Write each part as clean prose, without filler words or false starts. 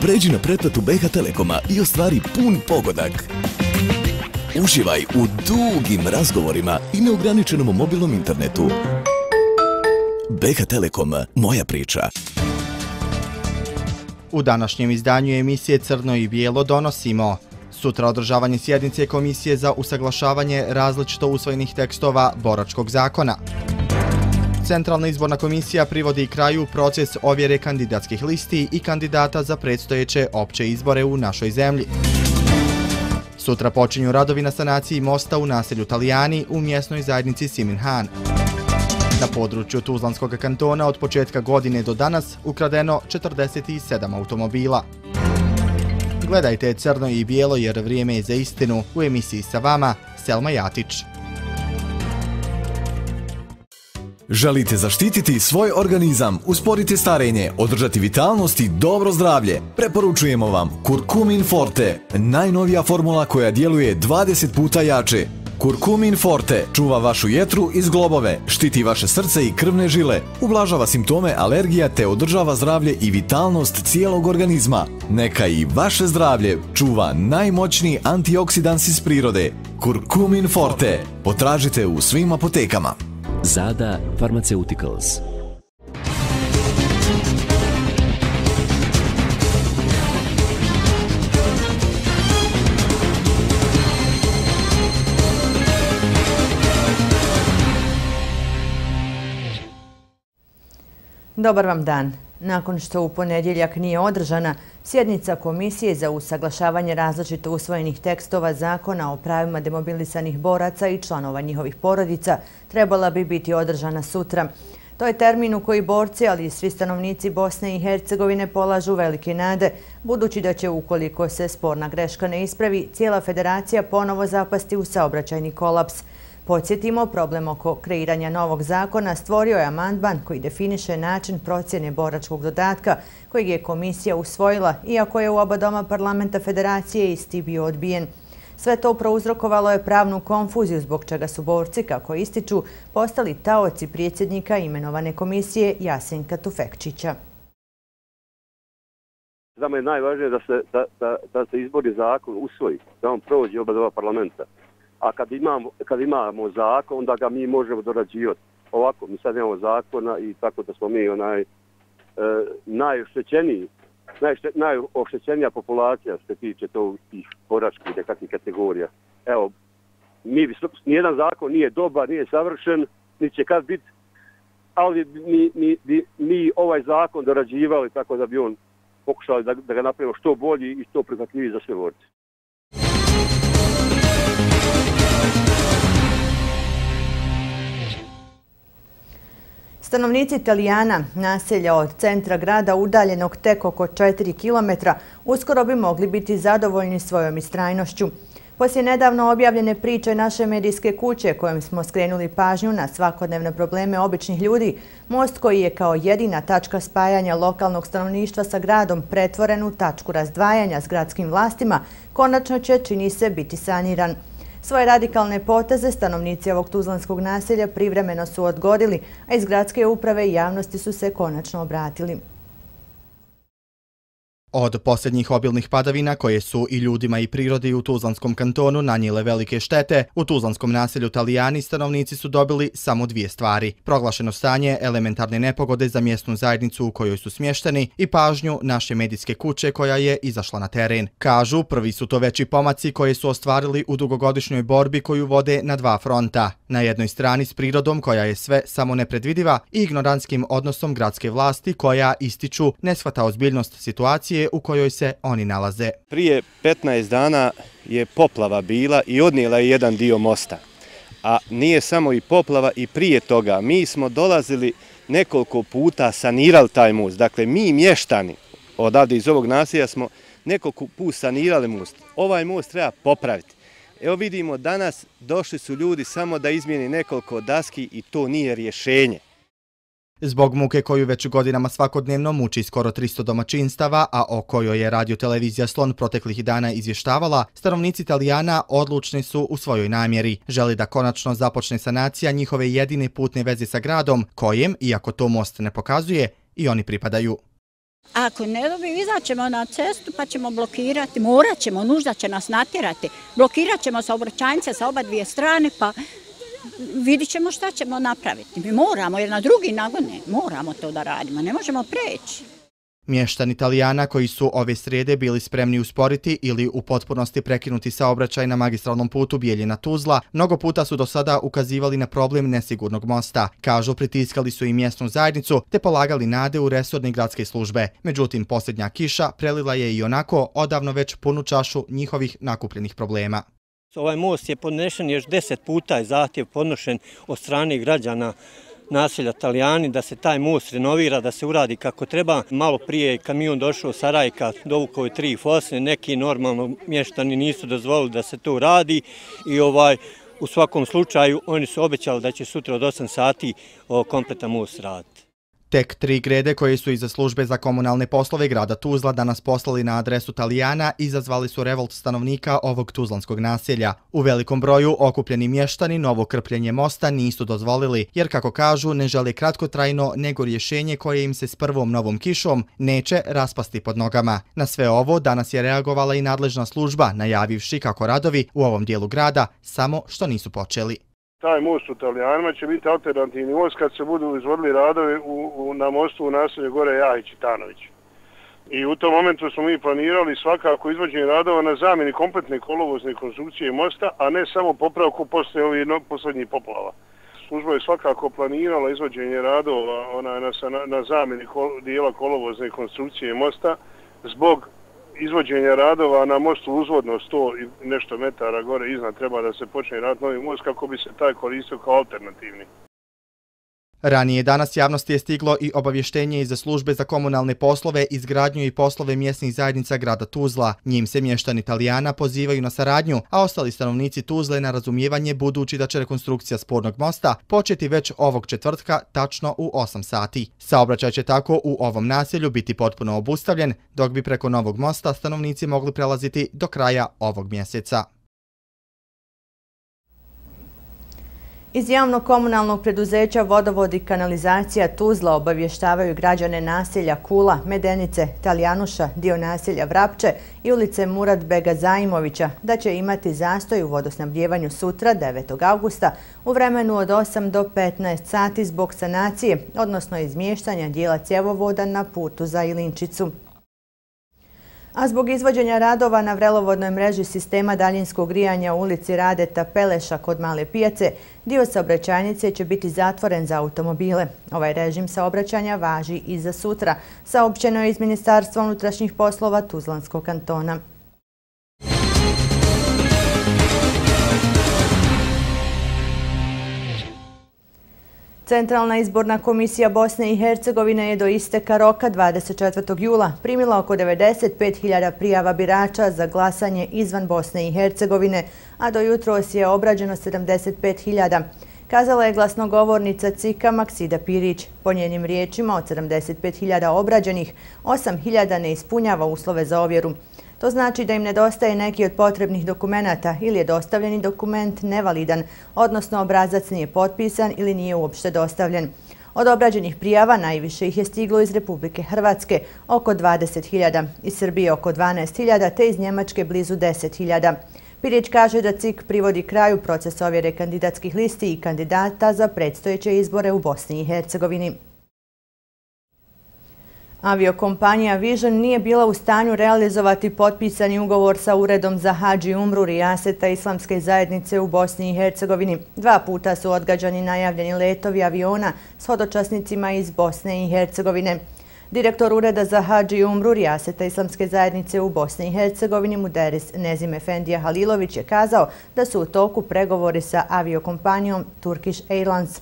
Pređi na pretplatu BH Telekoma i ostvari pun pogodak. Uživaj u dugim razgovorima i neograničenom mobilnom internetu. BH Telekom, moja priča. U današnjem izdanju emisije Crno i bijelo donosimo: sutra održavanje sjednice Komisije za usaglašavanje različito usvojenih tekstova Boračkog zakona. Centralna izborna komisija privodi kraju proces ovjere kandidatskih listi i kandidata za predstojeće opće izbore u našoj zemlji. Sutra počinju radovi na sanaciji mosta u naselju Talijani u mjesnoj zajednici Siminhan. Na području Tuzlanskog kantona od početka godine do danas ukradeno 47 automobila. Gledajte Crno i bijelo jer vrijeme je za istinu. U emisiji sa vama Selma Jatić. Želite zaštititi svoj organizam, usporiti starenje, održati vitalnost i dobro zdravlje? Preporučujemo vam Kurkumin Forte, najnovija formula koja djeluje 20 puta jače. Kurkumin Forte čuva vašu jetru i zglobove, štiti vaše srce i krvne žile, ublažava simptome alergija te održava zdravlje i vitalnost cijelog organizma. Neka i vaše zdravlje čuva najmoćniji antioksidans iz prirode. Kurkumin Forte. Potražite u svim apotekama. Zada Pharmaceuticals. Dobar vam dan. Nakon što u ponedjeljak nije održana sjednica Komisije za usaglašavanje različito usvojenih tekstova Zakona o pravima demobilisanih boraca i članova njihovih porodica, trebala bi biti održana sutra. To je termin u koji borci, ali i svi stanovnici Bosne i Hercegovine polažu velike nade, budući da će, ukoliko se sporna greška ne ispravi, cijela federacija ponovo zapasti u saobraćajni kolaps. Podsjetimo, problem oko kreiranja novog zakona stvorio je amandman koji definiše način procjene boračkog dodatka kojeg je komisija usvojila, iako je u oba doma parlamenta federacije isti bio odbijen. Sve to prouzrokovalo je pravnu konfuziju zbog čega su borci, kako ističu, postali taoci predsjednika imenovane komisije Jasenka Tufekčića. Za me je najvažnije da se izborni zakon usvoji, da on prođe oba doma parlamenta. A kad imamo zakon, onda ga mi možemo dorađivati. Ovako, mi sad imamo zakona i tako da smo mi najoštećenija populacija što se tiče tih boračkih nekakvih kategorija. Evo, nijedan zakon nije dobar, nije savršen, niti će kad biti, ali mi ovaj zakon dorađivali tako da bi on pokušali da ga napravimo što bolji i što prihvatljiviji za sve borce. Stanovnici Talijana, naselja od centra grada udaljenog tek oko 4 km, uskoro bi mogli biti zadovoljni svojom istrajnošću. Poslije nedavno objavljene priče naše medijske kuće kojim smo skrenuli pažnju na svakodnevne probleme običnih ljudi, most koji je kao jedina tačka spajanja lokalnog stanovništva sa gradom pretvoren u tačku razdvajanja s gradskim vlastima, konačno će, čini se, biti saniran. Svoje radikalne poteze stanovnici ovog tuzlanskog naselja privremeno su odgodili, a iz gradske uprave i javnosti su se konačno obratili. Od posljednjih obilnih padavina koje su i ljudima i prirodi u Tuzlanskom kantonu nanijele velike štete, u tuzlanskom naselju Talijani stanovnici su dobili samo dvije stvari: proglašeno stanje elementarne nepogode za mjesnu zajednicu u kojoj su smješteni i pažnju naše medijske kuće koja je izašla na teren. Kažu, prvi su to veći pomaci koje su ostvarili u dugogodišnjoj borbi koju vode na dva fronta. Na jednoj strani s prirodom koja je sve samo nepredvidiva i ignorantskim odnosom gradske vlasti koja, ističu, ne shvata ozbiljnost situacije u kojoj se oni nalaze. Prije 15 dana je poplava bila i odnijela je jedan dio mosta. A nije samo i poplava, i prije toga mi smo dolazili nekoliko puta, sanirali taj most. Dakle, mi mještani odavde iz ovog naselja smo nekoliko puta sanirali most. Ovaj most treba popraviti. Evo vidimo, danas došli su ljudi samo da izmijeni nekoliko daski i to nije rješenje. Zbog muke koju već godinama svakodnevno muči skoro 300 domaćinstava, a o kojoj je radio-televizija Slon proteklih dana izvještavala, stanovnici Talijana odlučni su u svojoj namjeri. Želi da konačno započne sanacija njihove jedine putne veze sa gradom, kojem, iako to most ne pokazuje, i oni pripadaju. Ako ne dobiju, izaćemo na cestu pa ćemo blokirati, morat ćemo, nužda će nas natjerati. Blokirat ćemo saobraćajnice sa oba dvije strane pa vidit ćemo šta ćemo napraviti. Mi moramo, jer na drugi nagone moramo to da radimo, ne možemo preći. Mještani Italijana koji su ove srijede bili spremni usporiti ili u potpunosti prekinuti saobraćaj na magistralnom putu Bijeljina-Tuzla, mnogo puta su do sada ukazivali na problem nesigurnog mosta. Kažu, pritiskali su i mjesnu zajednicu te polagali nade u resorne gradske službe. Međutim, posljednja kiša prelila je i onako odavno već punu čašu njihovih nakupljenih problema. Ovaj most je podnešen još 10 puta, je zahtjev podnošen od strane građana naselja Talijani da se taj most renovira, da se uradi kako treba. Malo prije je kamion došao sa Rajka, dovukao je 3 fosne, neki normalno mještani nisu dozvolili da se to uradi i u svakom slučaju oni su obećali da će sutra od 8 sati kompletan most raditi. Tek 3 grede koje su iza službe za komunalne poslove grada Tuzla danas poslali na adresu Talijana izazvali su revolt stanovnika ovog tuzlanskog naselja. U velikom broju okupljeni mještani novo krpljenje mosta nisu dozvolili, jer kako kažu ne žele kratkotrajno nego rješenje koje im se s prvom novom kišom neće raspasti pod nogama. Na sve ovo danas je reagovala i nadležna služba, najavivši kako radovi u ovom dijelu grada samo što nisu počeli. Taj most u Talijanima će biti alternativni most kad se budu izvodili radovi na mostu u naselju Gore Jahić i Tanović. I u tom momentu smo mi planirali svakako izvođenje radova na zamjeni kompletne kolovozne konstrukcije mosta, a ne samo popravku poslije ovih posljednjih poplava. Služba je svakako planirala izvođenje radova na zamjeni dijela kolovozne konstrukcije mosta zbog izvođenja radova na mostu uzvodno 100 i nešto metara gore iznad treba da se počne raditi novi most kako bi se taj koristio kao alternativni. Ranije danas javnosti je stiglo i obavještenje iz službe za komunalne poslove, izgradnju i poslove mjesnih zajednica grada Tuzla. Njim se mještani Talijana pozivaju na saradnju, a ostali stanovnici Tuzle na razumijevanje budući da će rekonstrukcija spornog mosta početi već ovog četvrtka tačno u 8 sati. Saobraćaj će tako u ovom naselju biti potpuno obustavljen, dok bi preko novog mosta stanovnici mogli prelaziti do kraja ovog mjeseca. Iz javnog komunalnog preduzeća Vodovod i kanalizacija Tuzla obavještavaju građane naselja Kula, Medenice, Talijanuša, dio naselja Vrapče i ulice Murat Bega Zaimovića da će imati zastoj u vodosnabdjevanju sutra 9. augusta u vremenu od 8 do 15 sati zbog sanacije, odnosno izmještanja dijela cjevovoda na putu za Ilinčicu. A zbog izvođenja radova na vrelovodnoj mreži sistema daljinskog grijanja u ulici Radeta Peleša kod Male pijace, dio saobraćajnice će biti zatvoren za automobile. Ovaj režim saobraćanja važi i za sutra, saopćeno je iz Ministarstva unutrašnjih poslova Tuzlanskog kantona. Centralna izborna komisija Bosne i Hercegovine je do isteka roka 24. jula primila oko 95.000 prijava birača za glasanje izvan Bosne i Hercegovine, a do jutros je obrađeno 75.000. Kazala je glasnogovornica CIK-a Maksida Pirić. Po njenim riječima od 75.000 obrađenih, 8.000 ne ispunjava uslove za ovjeru. To znači da im nedostaje neki od potrebnih dokumenata ili je dostavljeni dokument nevalidan, odnosno obrazac nije potpisan ili nije uopšte dostavljen. Od obrađenih prijava najviše ih je stiglo iz Republike Hrvatske, oko 20.000, iz Srbije oko 12.000 te iz Njemačke blizu 10.000. Pirić kaže da CIK privodi kraju proces ovjere kandidatskih listi i kandidata za predstojeće izbore u Bosni i Hercegovini. Aviokompanija Vision nije bila u stanju realizovati potpisani ugovor sa Uredom za Hadž i Umru Rijaseta Islamske zajednice u Bosni i Hercegovini. 2 puta su odgađani najavljeni letovi aviona s hodočasnicima iz Bosne i Hercegovine. Direktor Ureda za Hadž i Umru Rijaseta Islamske zajednice u Bosni i Hercegovini Muderis Nezim Efendija Halilović je kazao da su u toku pregovori sa aviokompanijom Turkish Airlines.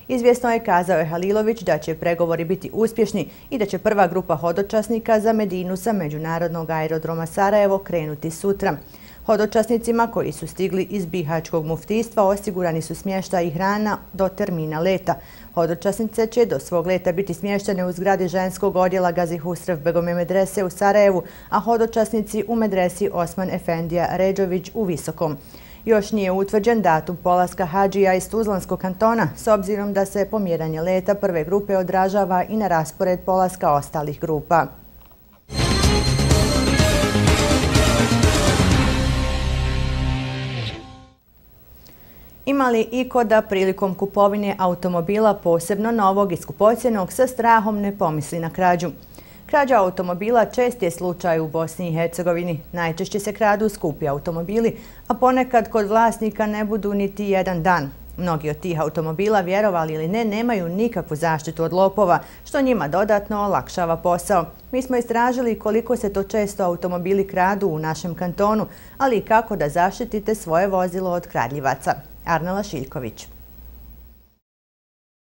Izvjesno je, kazao je Halilović, da će pregovori biti uspješni i da će prva grupa hodočasnika za Medinu sa Međunarodnog aerodroma Sarajevo krenuti sutra. Hodočasnicima koji su stigli iz Bihaćkog muftijstva osigurani su smještaj i hrana do termina leta. Hodočasnice će do svog leta biti smještene u zgradi ženskog odjela Gazi Husrev Begome medrese u Sarajevu, a hodočasnici u medresi Osman Efendija Ređović u Visokom. Još nije utvrđen datum polaska hadžija iz Tuzlanskog kantona, s obzirom da se pomjeranje leta prve grupe odražava i na raspored polaska ostalih grupa. Ima li iko da prilikom kupovine automobila, posebno novog i skupocjenog, sa strahom ne pomisli na krađu? Krađa automobila čest je slučaj u Bosni i Hercegovini. Najčešće se kradu skupi automobili, a ponekad kod vlasnika ne budu niti jedan dan. Mnogi od tih automobila, vjerovali ili ne, nemaju nikakvu zaštitu od lopova, što njima dodatno olakšava posao. Mi smo istražili koliko se to često automobili kradu u našem kantonu, ali i kako da zaštitite svoje vozilo od kradljivaca. Arnela Šiljković.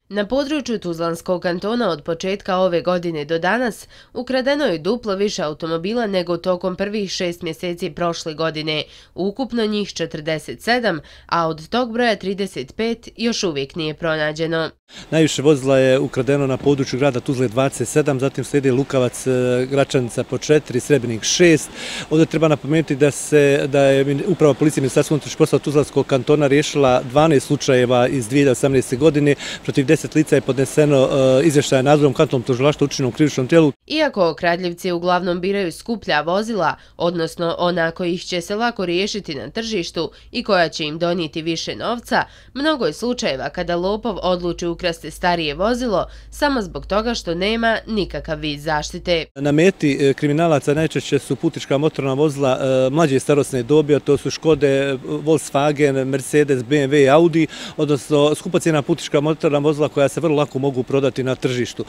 Na području Tuzlanskog kantona od početka ove godine do danas ukradeno je duplo više automobila nego tokom prvih 6 mjeseci prošle godine, ukupno njih 47, a od tog broja 35 još uvijek nije pronađeno. Najviše vozila je ukradeno na području grada Tuzle 27, zatim slijedi Lukavac, Gračanica po 4, Srebrnik 6. Ovdje treba napomenuti da je uprava policije Ministarstva unutrašnjih poslova Tuzlanskog kantona riješila 12 slučajeva iz 2018. godine. Protiv 10 lica je podneseno izvještaje nadzorom kantonalnog tužilaštva učinjenom krivičnom djelu. Iako kradljivci uglavnom biraju skuplja vozila, odnosno ona kojih će se lako riješiti na tržištu i koja će im donijeti više novca, mnogo je slučajeva kada lopov odluči ukrasti starije vozilo samo zbog toga što nema nikakav vid zaštite. Na meti kriminalaca najčešće su putnička motorna vozila mlađe starosne dobi, a to su Škode, Volkswagen, Mercedes, BMW i Audi, odnosno skupocjena putnička motorna vozila koja se vrlo lako mogu prodati na tržištu.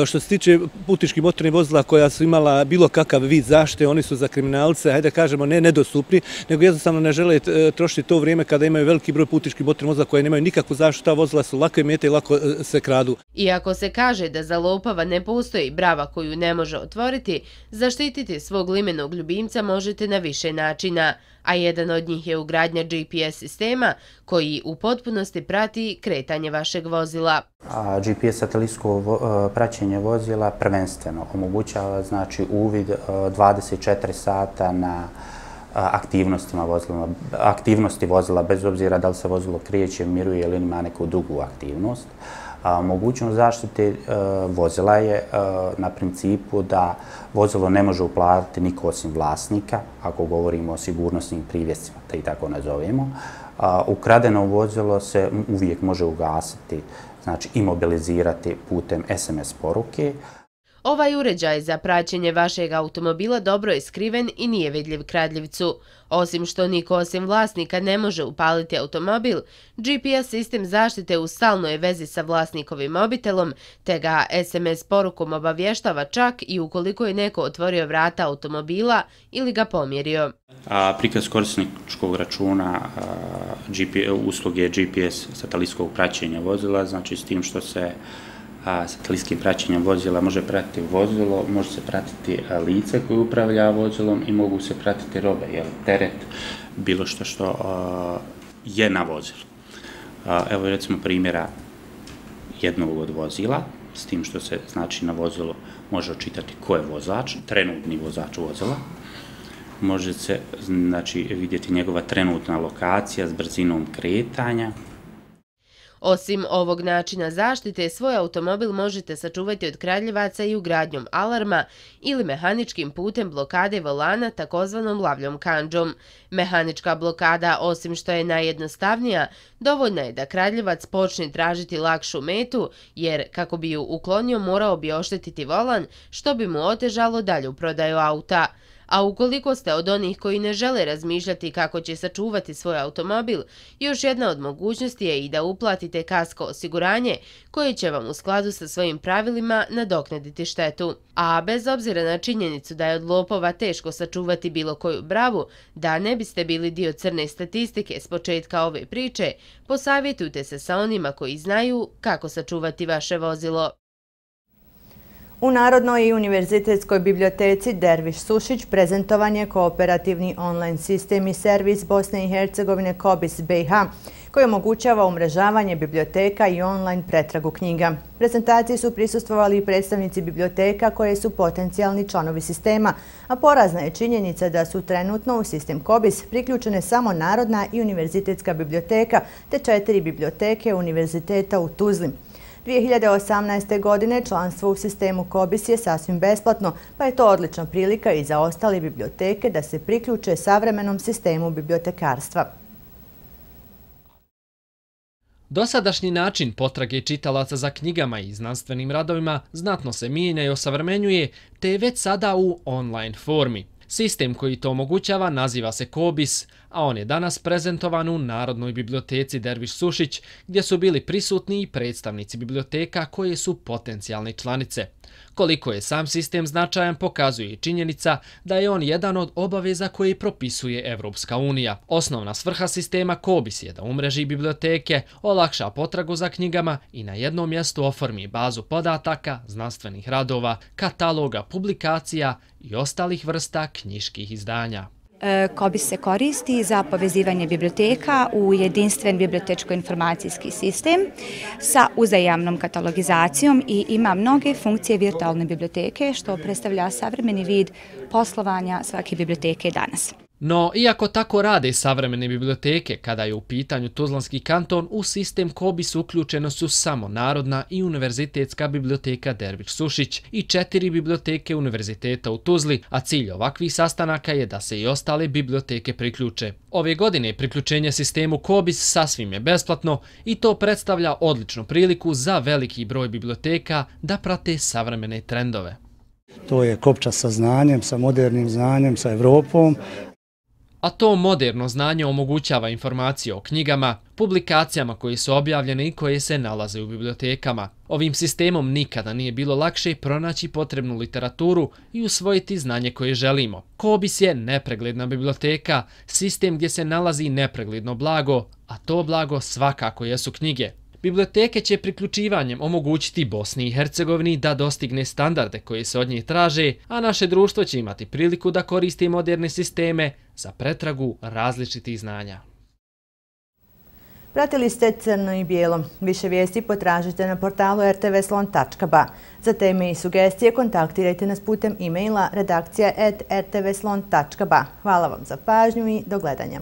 Što se tiče putničkih motornih vozila koja su imala bilo kakav vid zaštite, oni su za kriminalce, hajde kažemo, ne nedostupni, nego jednostavno ne žele trošiti to vrijeme kada imaju veliki broj putničkih motornih vozila koje nemaju nikakvu zaštitu, ta vozila su lako mete i lako se kradu. Iako se kaže da za lopava ne postoji brava koju ne može otvoriti, zaštititi svog limenog ljubimca možete na više načina, a jedan od njih je ugradnja GPS sistema koji u potpunosti prati kretanje vašeg vozila. GPS satelitsko praćenje vozila prvenstveno omogućava uvid 24 sata na aktivnosti vozila, bez obzira da li se vozilo kreće, miruje ili ima neku drugu aktivnost. Mogućnost zaštite vozila je na principu da vozilo ne može uplatiti niko osim vlasnika, ako govorimo o sigurnosnim privjescima, da i tako nazovemo. Ukradeno vozilo se uvijek može ugasiti, znači imobilizirati putem SMS poruke. Ovaj uređaj za praćenje vašeg automobila dobro je skriven i nije vidljiv kradljivcu. Osim što niko osim vlasnika ne može upaliti automobil, GPS sistem zaštite u stalnoj je vezi sa vlasnikovim mobitelom, te ga SMS porukom obavještava čak i ukoliko je neko otvorio vrata automobila ili ga pomjerio. Prikaz korisničkog računa usluge GPS satelitskog praćenja vozila, znači s tim što se satelitskim praćenjem vozila može pratiti vozilo, može se pratiti lice koje upravlja vozilom i mogu se pratiti robe, teret, bilo što je na vozilu. Evo recimo primjera jednog od vozila, s tim što se znači na vozilu može očitati ko je vozač, trenutni vozač vozila. Može se vidjeti njegova trenutna lokacija s brzinom kretanja. Osim ovog načina zaštite, svoj automobil možete sačuvati od kradljivaca i ugradnjom alarma ili mehaničkim putem blokade volana takozvanom lavljom kandžom. Mehanička blokada, osim što je najjednostavnija, dovoljna je da kradljivac počne tražiti lakšu metu, jer kako bi ju uklonio morao bi oštetiti volan, što bi mu otežalo dalju prodaju auta. A ukoliko ste od onih koji ne žele razmišljati kako će sačuvati svoj automobil, još jedna od mogućnosti je i da uplatite kasko osiguranje koje će vam u skladu sa svojim pravilima nadoknaditi štetu. A bez obzira na činjenicu da je od lopova teško sačuvati bilo koju bravu, da ne biste bili dio crne statistike s početka ove priče, posavjetujte se sa onima koji znaju kako sačuvati vaše vozilo. U Narodnoj i univerzitetskoj biblioteci Derviš Sušić prezentovan je kooperativni online sistem i servis Bosne i Hercegovine COBIS BiH, koji omogućava umrežavanje biblioteka i online pretragu knjiga. Prezentaciji su prisustvovali i predstavnici biblioteka koje su potencijalni članovi sistema, a porazna je činjenica da su trenutno u sistem COBIS priključene samo Narodna i univerzitetska biblioteka te 4 biblioteke Univerziteta u Tuzli. 2018. godine članstvo u sistemu COBIS je sasvim besplatno, pa je to odlična prilika i za ostale biblioteke da se priključe savremenom sistemu bibliotekarstva. Dosadašnji način potrage čitalaca za knjigama i znanstvenim radovima znatno se mijenja i osavremenjuje, te je već sada u online formi. Sistem koji to omogućava naziva se COBIS, a on je danas prezentovan u Narodnoj biblioteci Derviš Sušić, gdje su bili prisutni i predstavnici biblioteka koje su potencijalne članice. Koliko je sam sistem značajan pokazuje i činjenica da je on jedan od obaveza koje propisuje Evropska unija. Osnovna svrha sistema COBIS je da umreži biblioteke, olakša potragu za knjigama i na jednom mjestu oformi bazu podataka, znanstvenih radova, kataloga, publikacija i ostalih vrsta knjiških izdanja. COBIS se koristi za povezivanje biblioteka u jedinstven bibliotečko-informacijski sistem sa uzajamnom katalogizacijom i ima mnoge funkcije virtualne biblioteke, što predstavlja savremeni vid poslovanja svake biblioteke danas. No, iako tako rade savremene biblioteke, kada je u pitanju Tuzlanski kanton, u sistem COBIS uključeno su samo Narodna i Univerzitetska biblioteka Derviš Sušić i 4 biblioteke Univerziteta u Tuzli, a cilj ovakvih sastanaka je da se i ostale biblioteke priključe. Ove godine priključenje sistemu COBIS sasvim je besplatno i to predstavlja odličnu priliku za veliki broj biblioteka da prate savremene trendove. To je kopča sa znanjem, sa modernim znanjem, sa Evropom. A to moderno znanje omogućava informacije o knjigama, publikacijama koje su objavljene i koje se nalaze u bibliotekama. Ovim sistemom nikada nije bilo lakše pronaći potrebnu literaturu i usvojiti znanje koje želimo. COBIS je nepregledna biblioteka, sistem gdje se nalazi nepregledno blago, a to blago svakako jesu knjige. Biblioteke će priključivanjem omogućiti Bosni i Hercegovini da dostigne standarde koje se od njih traže, a naše društvo će imati priliku da koristi moderne sisteme za pretragu različitih znanja. Pratili ste Crno i bijelo. Više vijesti potražite na portalu rtvslon.ba. Za teme i sugestije kontaktirajte nas putem e-maila redakcija@rtvslon.ba. Hvala vam za pažnju i do gledanja.